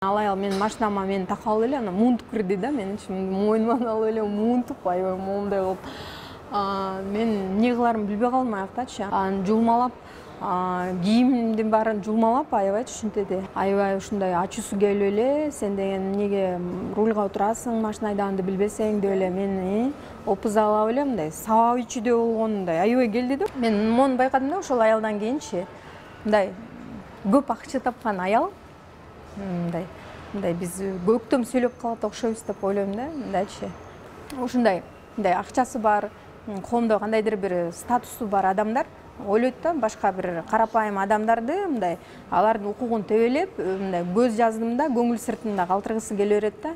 Алай менин машинама мени такап алып эле анан муунтуп кирди да, мен мойнуман алып эле муунтуп аябай моундай кылып. Мен эмне кыларымды билбей калдым аяктачы. Анан жулмалап, кийимдин баарын жулмалап аябайчы ушинтеди. Аябай ушундай ачуусу келип эле, сен деген эмнеге рульга отурасың, машина айдаганды билбесең деп эле мени опузалап эле мындай сабап ичүүдөй болгон мындай аябай келди да. Мен мону байкадым да, ошол аялдан кийинчи мындай көп акча тапкан аял мындай биз көктөм сүйлөп калат окшойбуз деп ойлойм да, мындайчы. Ушундай акчасы бар, коомдо кандайдыр бир статусу бар адамдар ойлойт да, башка бир карапайым адамдарды мындай алардын укугун тебелеп, мындай көз жаздымда көңүл сыртында калтыргысы келе берет да.